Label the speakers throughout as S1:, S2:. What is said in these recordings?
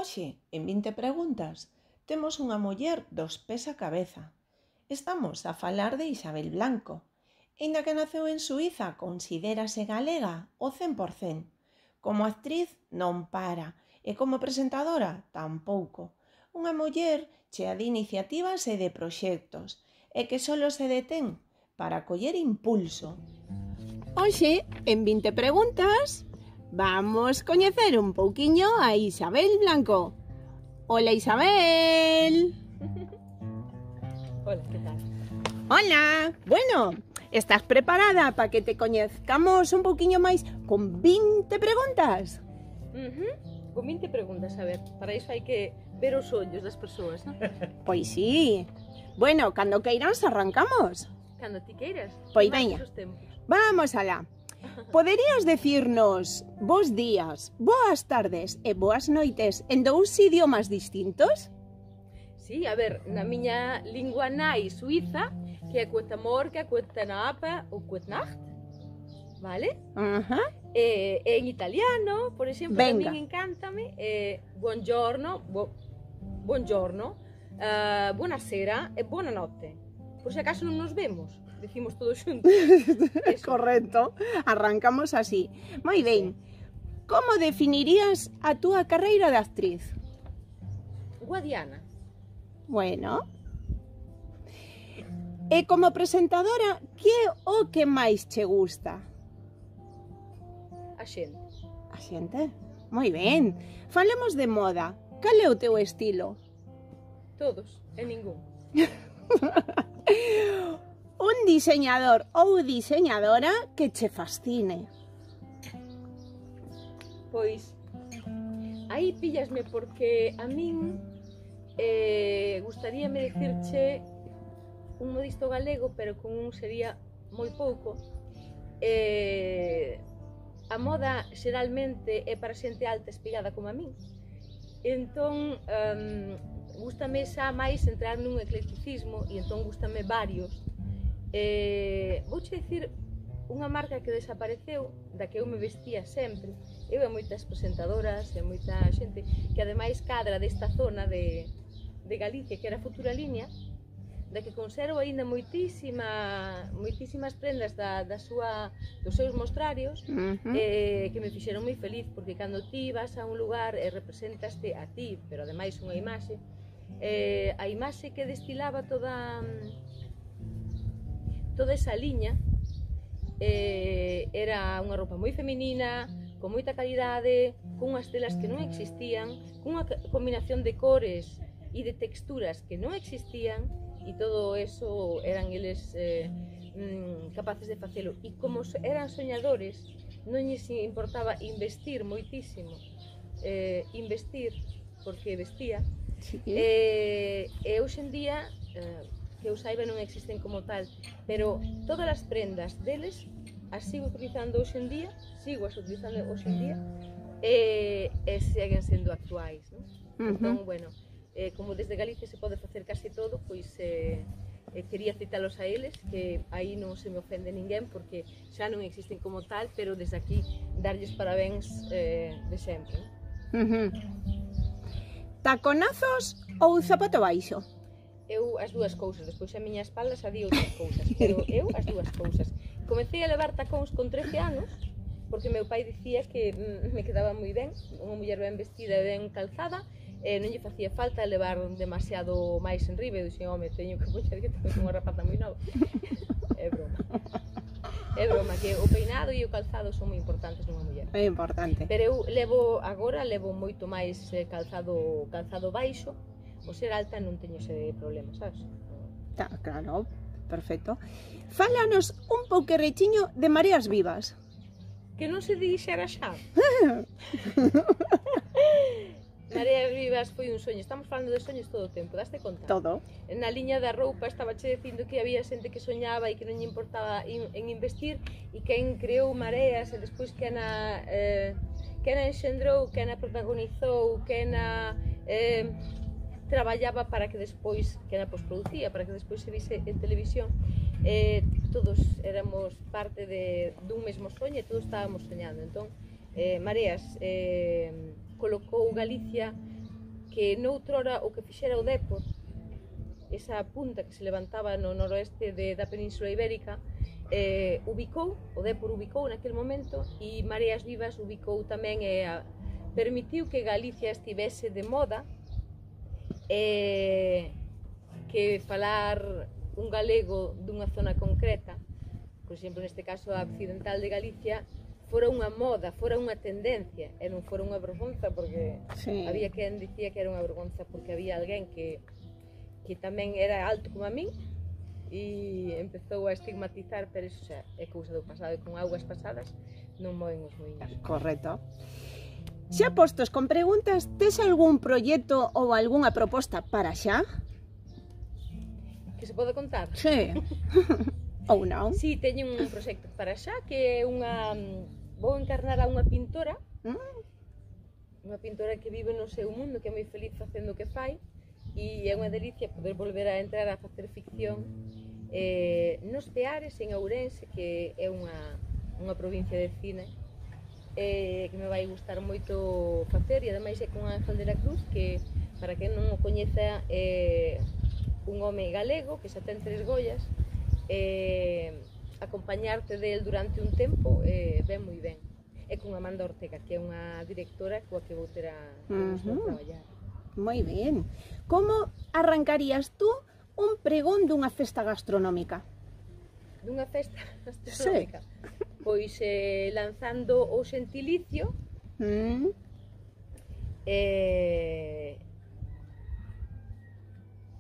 S1: Hoxe, en 20 preguntas, temos unha muller dos pés á cabeza. Estamos a falar de Isabel Blanco. Aínda que naceu en Suíza, considérase galega ao 100%. Como actriz non para e como presentadora tampouco. Unha muller chea de iniciativas e de proxectos e que solo se detén para coller impulso. Hoxe, en 20 preguntas, vamos coñecer un pouquiño a Isabel Blanco. Hola, Isabel.
S2: Hola, ¿qué tal?
S1: Hola. Bueno, estás preparada para que te coñezcamos un pouquiño máis con 20 preguntas?
S2: Con 20 preguntas, a ver, para iso hai que ver os ollos das persoas, non?
S1: Pois sí. Bueno, cando queiras arrancamos.
S2: Cando ti queiras.
S1: Pois veña. Vamos alá. Poderías decirnos bos días, boas tardes e boas noites en dous idiomas distintos?
S2: Sí, a ver, na miña lingua nai suiza, que é Guten Morgen, Guten Abend ou Gute Nacht, vale? En italiano, por exemplo,
S1: Venga.
S2: tamén encántame, buongiorno, buongiorno, buonasera e buonanotte. Por se acaso non nos vemos, decimos todos xuntos.
S1: Correcto, arrancamos así. Moi ben, como definirías a túa carreira de actriz?
S2: Guadiana.
S1: Bueno. E como presentadora, que é o que máis che gusta?
S2: A xente.
S1: A xente? Moi ben. Falemos de moda. Cal é o teu estilo?
S2: Todos, e ningún.
S1: Un diseñador ou diseñadora que che fascine.
S2: Pois, aí píllasme porque a min gustaríame dicirche un modisto galego, pero con un sería moi pouco. A moda xeralmente é para xente alta espigada como a min. Entón, gústame xa máis entrar nun eclecticismo e entón gústame varios. Vouche dicir unha marca que desapareceu, da que eu me vestía sempre. Eu e moitas presentadoras e moita xente que ademais cadra desta zona de Galicia, que era Futura Línea, da que conservo aínda moitísimas prendas dos seus mostrarios, que me fixeron moi feliz, porque cando ti vas a un lugar e representaste a ti, pero ademais unha imaxe, a imaxe que destilaba toda esa liña era unha roupa moi feminina, con moita calidade, con unhas telas que non existían, con unha combinación de cores e de texturas que non existían, e todo eso eran eles capaces de facelo. E como eran soñadores, non lles importaba investir moitísimo, investir porque vestía, e hoxe en día, que eu saiba, non existen como tal, pero todas as prendas deles as sigo utilizando hoxe en día, e seguen sendo actuais, non? Entón, bueno, como desde Galicia se pode facer casi todo, pois quería citalos a eles, que aí non se me ofende ninguén, porque xa non existen como tal, pero desde aquí darlles parabéns de sempre. Taconazos ou zapato baixo? Eu as dúas cousas, despois a miña espalda xa di outras cousas, pero eu as dúas cousas. Comecei a levar tacóns con 13 anos, porque meu pai dicía que me quedaba moi ben, unha muller ben vestida e ben calzada, non lle facía falta levar demasiado máis enriba. Eu dixen, home, teño que poñer que tengo unha rapaza moi nova. É broma. É broma, que o peinado e o calzado son moi importantes nunha muller.
S1: É importante.
S2: Pero eu agora levo moito máis calzado baixo. O ser alta non teño ese problema, sabes?
S1: Claro, perfecto. Fálanos un pouquerrichiño de Mareas Vivas.
S2: Que non se dixera xa. Mareas Vivas foi un soño. Estamos falando de soños todo o tempo, daste conta?
S1: Todo.
S2: Na liña da roupa estaba che dicindo que había xente que soñaba e que non lle importaba en investir, e quen creou Mareas e despois quen a enxendrou, quen a protagonizou, quen a traballaba para que despois, que na posproducía, para que despois se vise en televisión, todos éramos parte dun mesmo soño e todos estábamos soñando. Entón, Mareas colocou Galicia que noutrora o que fixera o Dépor, esa punta que se levantaba no noroeste da Península Ibérica, o Dépor ubicou naquele momento, e Mareas Vivas ubicou tamén permitiu que Galicia estivese de moda, que falar un galego dunha zona concreta, por exemplo, neste caso a occidental de Galicia, fora unha moda, fora unha tendencia, e non fora unha vergonza, porque había quen dicía que era unha vergonza porque había alguén que tamén era alto como a min e empezou a estigmatizar, pero iso xa é cousa do pasado, e con augas pasadas non moven os moinhos.
S3: Correcto. Xa postos con preguntas, tes algún proxecto ou algunha proposta para xa?
S2: Que se pode contar?
S3: Sí. Ou non?
S2: Si, teño un proxecto para xa, que é vou encarnar a unha pintora, unha pintora que vive no seu mundo, que é moi feliz facendo o que fai, e é unha delicia poder volver a entrar a facer ficción nos Peares, en Ourense, que é unha provincia de cine, que me vai gustar moito facer, e ademais é con Ángel de la Cruz, que, para quen non o coñeza, é un home galego que xa ten 3 Goyas. Acompañarte del durante un tempo ven moi ben. É con Amanda Ortega, que é unha directora coa que vou ter a traballar.
S3: Moi ben. Como arrancarías tú un pregón dunha festa gastronómica?
S2: Dunha festa gastronómica? Sí. Pois lanzando o xentilicio,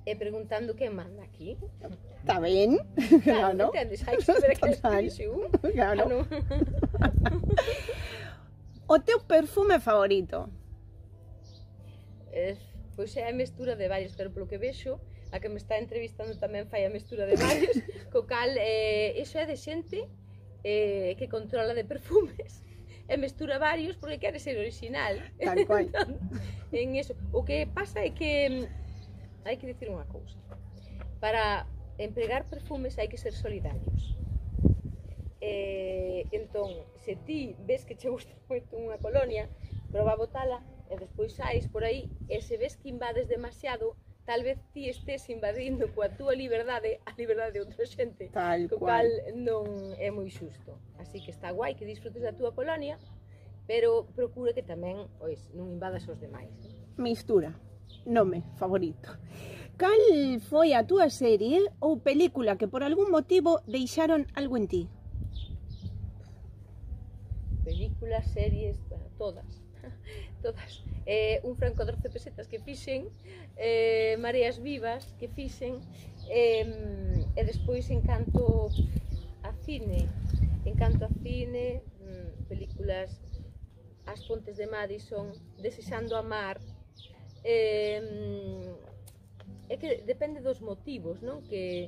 S2: e preguntando quen manda aquí.
S3: Está ben?
S2: Claro, entendes? Hai que saber a que escrixe un.
S3: Claro. O teu perfume favorito?
S2: Pois é a mestura de varios, pero polo que vexo, a que me está entrevistando tamén fai a mestura de varios, co cal, iso é de xente que controla de perfumes, e mestura varios porque quere ser original.
S3: Tal cual.
S2: En eso. O que pasa é que hai que dicir unha cousa. Para empregar perfumes hai que ser solidarios. Entón, se ti ves que che gusta moito unha colonia, proba a botala e despois sais por aí, e se ves que invades demasiado, tal vez ti estés invadindo coa túa liberdade a liberdade de outra xente, co cal non é moi xusto. Así que está guai que disfrutes da túa colonia, pero procura que tamén non invadas os demais.
S3: Mistura, nome favorito. Cal foi a túa serie ou película que por algún motivo deixaron algo en ti?
S2: Películas, series, todas. Todas. Un franco 12 pesetas que fixen, Mareas Vivas que fixen, e despois encanto a cine, películas As Pontes de Madison, Desexando amar. É que depende dos motivos, non? Que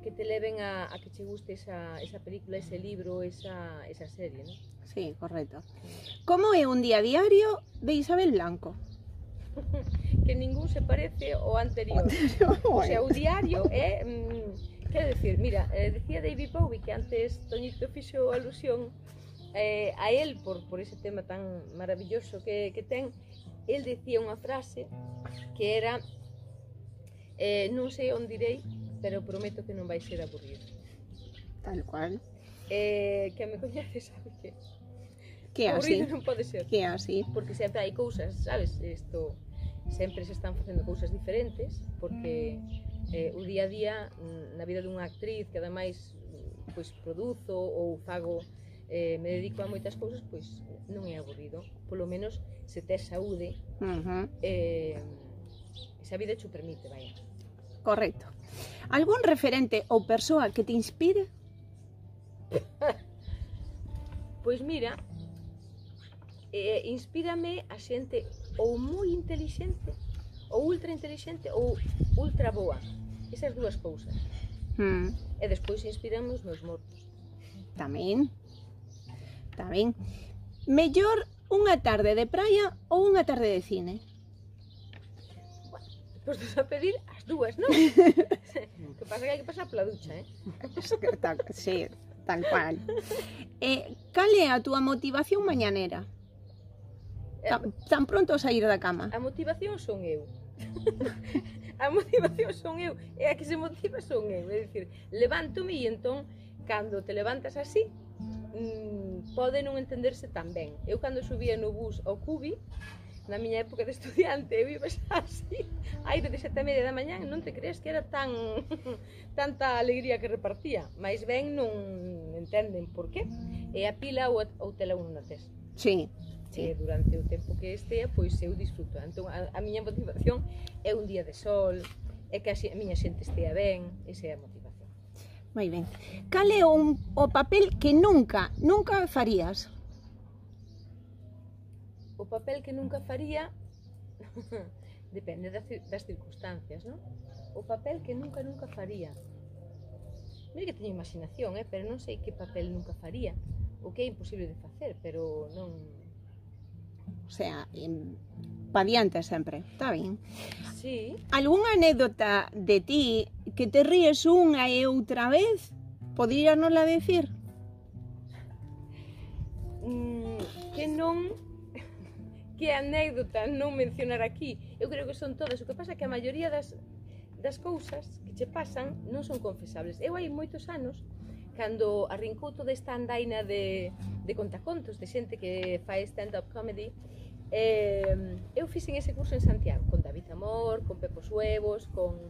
S2: te leven a que che guste esa película, ese libro, esa serie, non?
S3: Sí, correcto. Como é un día diario de Isabel Blanco?
S2: Que ningún se parece ao anterior. O sea, o diario é... quero dicir, mira, decía David Bowie que antes Toñito fixo alusión a él por ese tema tan maravilloso que ten. El decía unha frase que era non sei onde irei, pero prometo que non vai ser aburrido.
S3: Tal cual.
S2: Que me coñece sabe que
S3: así.
S2: Non pode ser.
S3: Que así.
S2: Porque sempre hai cousas, sabes, sempre se están facendo cousas diferentes, porque o día a día na vida dunha actriz que ademais pois produzo ou fago, me dedico a moitas cousas, pois non é aburrido, polo menos se tes saúde, esa vida che o permite, vai.
S3: Correcto. Algún referente ou persoa que te inspire?
S2: Pois mira, inspírame a xente ou moi intelixente, ou ultra intelixente, ou ultra boa. Esas dúas cousas. E despois inspirame os meus mortos.
S3: Tamén. Mellor unha tarde de praia ou unha tarde de cine?
S2: Postos a pedir as dúas, non? O que pasa que hai que pasar pola ducha,
S3: Sí, tal cual. Cal é a túa motivación mañanera? Tan pronto a sair da cama.
S2: A motivación son eu. A motivación son eu. E a que se motiva son eu. É dicir, levántome e entón, cando te levantas así, pode non entenderse tan ben. Eu cando subía no bus ao Cubi, na miña época de estudiante, eu iba así, aire de 7:30 da mañá, non te crees que era tanta alegría que repartía, mais ben non entenden por qué, e a pila ou tela un na tes.
S3: Sí.
S2: E durante o tempo que estea, pois eu disfruto. Entón, a miña motivación é un día de sol, é que a miña xente estea ben, esa é a motivación.
S3: Moi ben. Cal é o papel que nunca farías?
S2: O papel que nunca faría depende das circunstancias, non? O papel que nunca faría. Mira que teño imaginación, pero non sei que papel nunca faría. O que é imposible de facer, pero non...
S3: O sea, pa diante sempre, está ben.
S2: Sí.
S3: Algúnha anécdota de ti que te ríes unha e outra vez? Podríanosla decir?
S2: Que non... Que anécdota non mencionar aquí. Eu creo que son todas. O que pasa é que a maioría das cousas que che pasan non son confesables. Eu hai moitos anos, cando arrincou toda esta andaina de contacontos, de xente que fai stand-up comedy, eu fixen ese curso en Santiago, con David Amor, con Pepo Suevos, con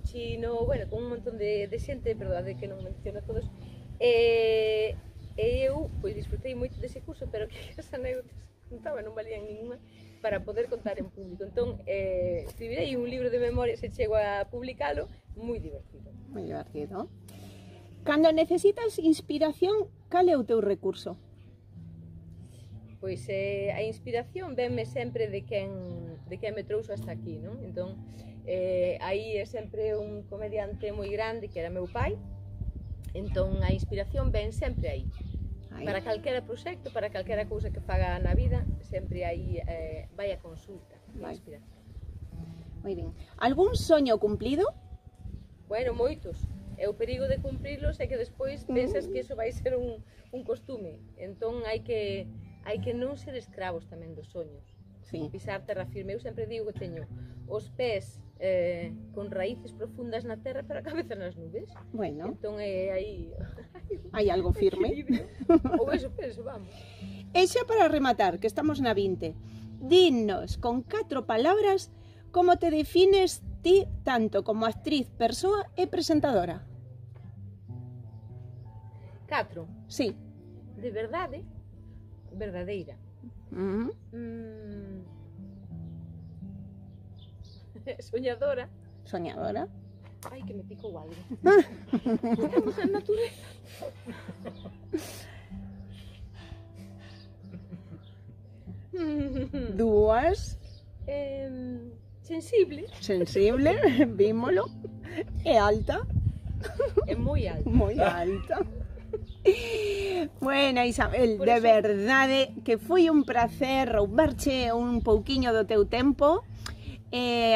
S2: Chino, bueno, con un montón de xente, perdón, que non menciono a todos, e eu pois disfrutei moito dese curso, pero que as anécdotas contaba non valían ninguna para poder contar en público. Entón, escribirei un libro de memorias e chego a publicalo, moi divertido.
S3: Moi divertido. Cando necesitas inspiración, cal é o teu recurso?
S2: Pois a inspiración venme sempre de quen me trouxo hasta aquí, non? Entón, aí é sempre un comediante moi grande que era meu pai, entón a inspiración ven sempre aí. Para calquera proxecto, para calquera cousa que faga na vida, sempre aí vai a consulta, a inspiración.
S3: Moi ben. Algún soño cumplido?
S2: Bueno, moitos. E o perigo de cumprilos é que despois pensas que iso vai ser un costume. Entón hai que non ser escravos tamén dos soños.
S3: Sí.
S2: Pisar terra firme. Eu sempre digo que teño os pés con raíces profundas na terra, pero a cabeza nas nubes.
S3: Bueno.
S2: Entón aí...
S3: Hai algo firme.
S2: Ou eso penso, vamos.
S3: E xa para rematar, que estamos na 20, dinos con 4 palabras como te defines ti tanto como actriz, persoa e presentadora.
S2: 4.
S3: Sí.
S2: De verdade, verdadeira. Soñadora.
S3: Soñadora.
S2: Ai, que me picou algo. Estamos en natureza.
S3: Dúas.
S2: Sensible.
S3: Sensible, vímolo. E alta.
S2: É moi alta.
S3: Moi alta. Bueno, Isabel, de verdade que foi un placer roubarche un pouquiño do teu tempo.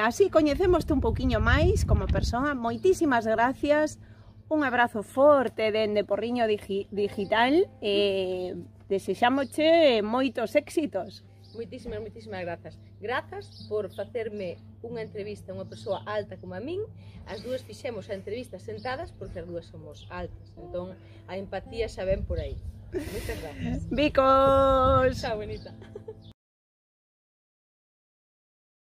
S3: Así coñecemoste un pouquiño máis como persoa. Moitísimas gracias. Un abrazo forte dende Porriño Digital e desexámoche moitos éxitos.
S2: Moitísimas grazas. Grazas por facerme unha entrevista a unha persoa alta como a min. As dúas fixemos a entrevista sentadas porque as dúas somos altas. Entón, a empatía xa ven por aí. Moitas gracias.
S3: Bicos!
S2: Chao, bonita.